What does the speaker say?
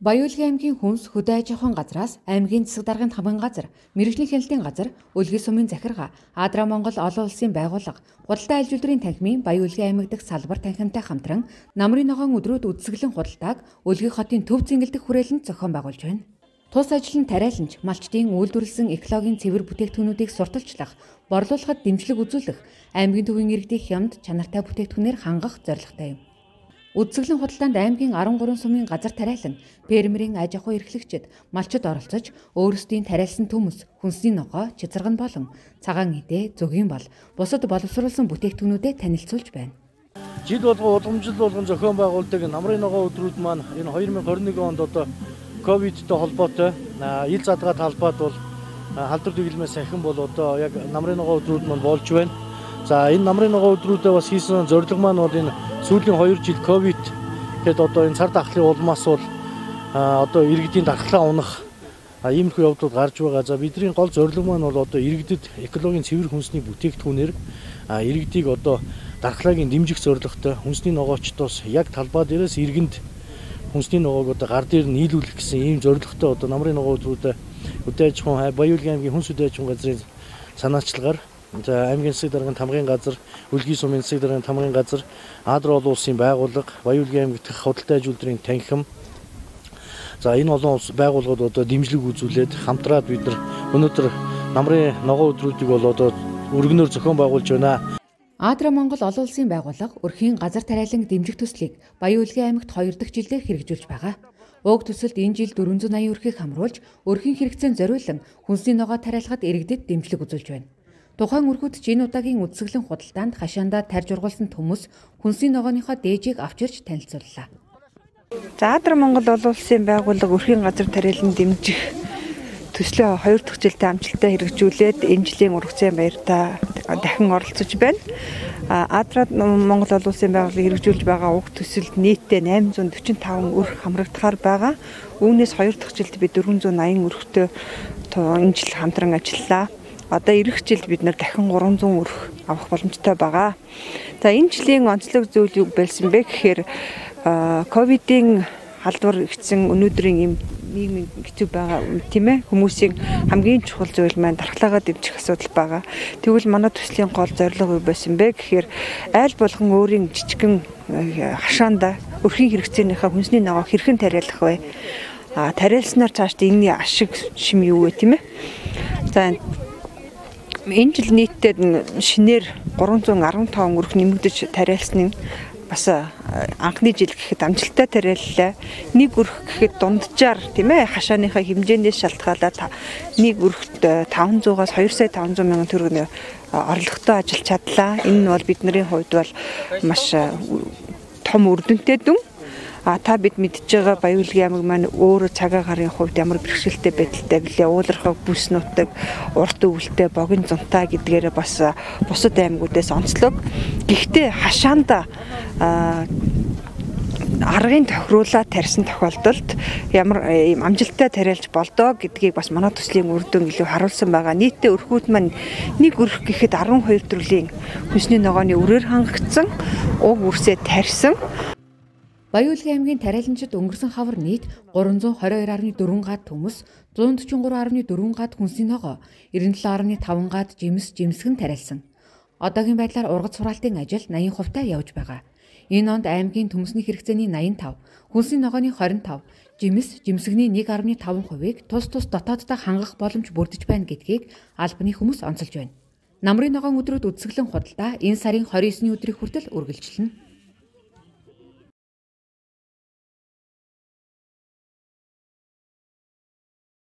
Баяуулгын аймгийн хүнс хөдөө аж ахуйн газраас аймгийн засаг даргын хамгаан газар, мэрэгжлийн хяналтын газар, Үлгий сумын захиргаа, Адра Монгол олон улсын байгууллага, худалдаа аж үйлдвэрийн танхимын Баяуулгын аймаг дахь салбар танхимтай хамтран намрын ногоон өдрүүд үдсгэлэн худалдааг Үлгий хотын төв зингэлдэх хүрээлэнд зохион байгуулж байна. Тус ажил нь тариаланч, малчдын үйлдвэрлэсэн экологийн цэвэр бүтээгдэхүүнүүдийг сурталчлах, борлуулахад дэмжлэг үзүүлэх, аймгийн төвийн иргэдийн хямд чанартай бүтээгдэхүүнээр хангах зорилготой юм. Үдсгэлэн худалдаанд аймгийн 13 сумын газар тариалан, фермерийн аж ахуй эрхлэгчид, малчид оролцож, өөрсдийн тариалсан төмөс, хүнсний ногоо, чицэргэн болон цагаан идэ, зөгийн бол бусад боловсруулсан бүтээгдэхүүнүүдэд танилцуулж байна. Жил болгон уламжлал болгон зохион байгуулдаг намрын ногоо өдрүүд маань энэ 2021 онд одоо ковидтэй холбоотой ил задгаа талбайд бол халдвар дэглэмээс сахин бол одоо яг намрын ногоо өдрүүд маань болж байна. За энэ намрын ногоо өдрүүдэд бас хийсэн зорилго маань бол энэ сүүлийн 2 жил ковид гэдэг одоо энэ цар тахлын улмаас бол одоо иргэдийн дархлаа унах иймэрхүү явдлууд гарч байгаа. За бидний гол зорилго маань бол одоо иргэдэд экологийн цэвэр хүнсний бүтээгдэхүүнээр иргэдийг одоо дархлааг дэмжих зорилготой хүнсний ногоочдоос яг талбай дээрээс иргэнд хүнсний ногоог одоо гар дээр нийлүүлэх гэсэн ийм зорилготой одоо намрын ногоо өдрүүдэд хөдөө аж ахуйн Баяуулгын аймгийн хүнс хөдөө аж ахуйн газрын санаачлагаар за аймгийн засаг даргын хамгаан газар, Үлгий сумын засаг даргын хамгаан газар, Адра олон улсын байгууллага, Баяуулгын аймаг дахь худалдаа аж үйлдвэрийн танхим. За энэ олон улс байгууллагууд одоо дэмжлэг үзүүлээд хамтраад бид нар өнөөдөр намрын ногоо өдрүүдийг бол одоо өргөнөөр зохион байгуулж байна. Адра Монгол олон улсын байгууллага өрхийн газар тариалан дэмжих төслийг Баяуулгын аймагт 2 дахь жилдээ хэрэгжүүлж байгаа. Уг төсөлд энэ жил 480 өрхийг хамруулж, өрхийн хэрэгцээнд зориулан хүнсний ногоо тариалахад иргэдэд дэмжлэг үзүүлж байна. Тухайн өрхөд ч энэ удаагийн үдсгэлэн худалдаанд хашаандаа тарьж ургуулсан төмөс хүнсний ногооныхоо дээжийг авчирч танилцууллаа. За Адра Монгол олон улсын байгууллага өрхийн газар тариалан дэмжих төслөө 2 дахь жилдээ амжилттай хэрэгжүүлээд энэ жилийн ургацын баяртаа дахин оролцож байна. Адра Монгол олон улсын байгууллага хэрэгжүүлж байгаа уг төсөлд нийтдээ 845 өрх хамрагдахаар байгаа. Үүнээс 2 дахь жилд бид 480 өрхтөө энэ жил хамтран ажиллалаа. Одоо ирэх жилд бид нар дахин 300 өрх авах боломжтой байгаа. За энэ жилийн онцлог зүйл юу байсан бэ гэхээр ковидын халдвар ихсэн өнөөдрийн ийм нийгмийн хэцүү байгаа тийм ээ, хүмүүсийн хамгийн чухал зүйл маань дархлаагаа дэмжих асуудал байгаа. Тэгвэл манай төслийн гол зорилго юу байсан бэ гэхээр айл болгон өөрийн жижигэн хашаанда өрхийн хэрэгцээнийхээ хүнсний ногоо хэрхэн тариалах вэ? Тариалснаар цаашдаа энэний ашиг шим юу вэ тийм ээ? За энэ жил нийтдээ шинээр 315 өрх нэмэгдэж тариалсан нь бас анхны жил гэхэд амжилттай тариаллаа. Нэг өрх гэхэд дунджаар тийм ээ хашааныхаа хэмжээнээс шалтгаалаад нэг өрхт 500-аас 2,500,000 төгрөг орлоготой ажиллаж чадлаа. Энэ нь бол бидний хувьд бол маш том үр дүнтэй дүн. Та бид мэдж байгаа Баяуулгын аймаг маань өөрөө цагаан гарын хувьд ямар бэрхшээлтэй байдалтай билээ. Уулархаг бүс нутаг, урт өвөлтэй, богино зунтаа гэдгээр бас бусад аймагуудаас онцлог. Гэхдээ хашаанда аргын тохируулаа тарьсан тохиолдолд ямар амжилттай тариалж болдоо гэдгийг бас манай төслийн үр дүн илүү харуулсан байгаа. Нийтдээ өрхүүд маань нэг өрх гэхэд 12 төрлийн хүнсний ногооны өрөөр хангагдсан, уг үрсээ тарьсан. Баяуулгын аймгийн тариаланчид өнгөрсөн хавар нийт 322.4 гад төмөс, 143.4 гад хүнсний ногоо, 97.5 гад жимсгэн тариалсан. Одоогийн байдлаар ургац сураалтын ажил 80% явж байгаа. Энэ онд аймгийн төмөсний хэрэгцээний 85, хүнсний ногооны 25, жимсгний 1.5%-ийг тус дотооддоо хангах боломж бүрдэж байна гэдгийг албаны хүмүүс онцолж байна. Намрын ногоон өдрүүд үдсгэлэн худалдаа энэ сарын 29-ний өдрийг хүртэл үргэлжилнэ.